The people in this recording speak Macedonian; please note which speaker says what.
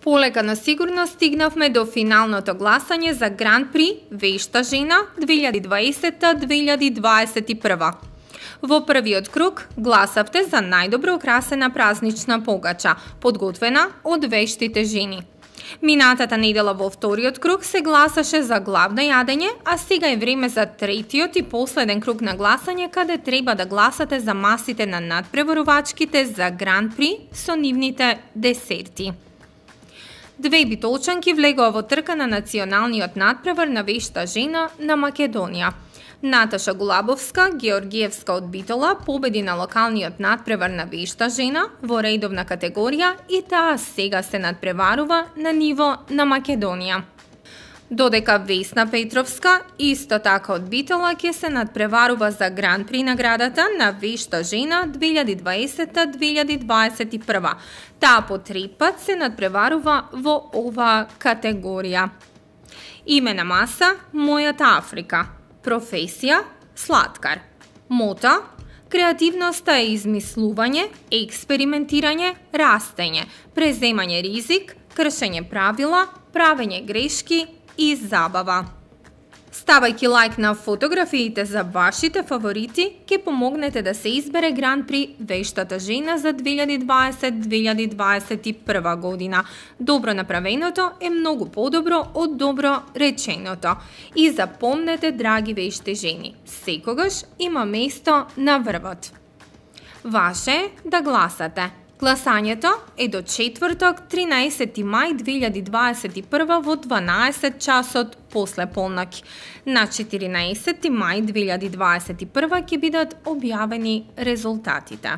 Speaker 1: Полека но сигурно стигнавме до финалното гласање за Гран При Вешта жена 2020-2021. Во првиот круг гласавте за најдобро украсена празнична погача, подготвена од вештите жени. Минатата недела во вториот круг се гласаше за главно јадење, а сега е време за третиот и последен круг на гласање, каде треба да гласате за масите на надпреварувачките за Гран При со нивните десерти. Две битолчанки влегоа во трка на националниот надпревар на вешта жена на Македонија. Наташа Гулабовска, Георгиевска од Битола, победи на локалниот надпревар на вешта жена во редовна категорија и таа сега се надпреварува на ниво на Македонија. Додека Весна Петровска, исто така од Битола, ќе се надпреварува за Гран При наградата на вешта жена 2020-2021. Таа по 3 пат се надпреварува во оваа категорија. Име на маса – Мојата Африка. Професија – слаткар. Мото – креативноста е измислување, експериментирање, растење, преземање ризик, кршење правила, правење грешки и забава. Ставајќи лайк на фотографиите за вашите фаворити, ќе помогнете да се избере Гран При Вештата жена за 2020-2021 година. Добро направеното е многу подобро од добро реченото. И запомнете, драги вешти жени, секогаш има место на врвот. Ваше е да гласате. Гласањето е до четврток, 13 мај 2021 во 12 часот после полноќ. На 14 мај 2021 ќе бидат објавени резултатите.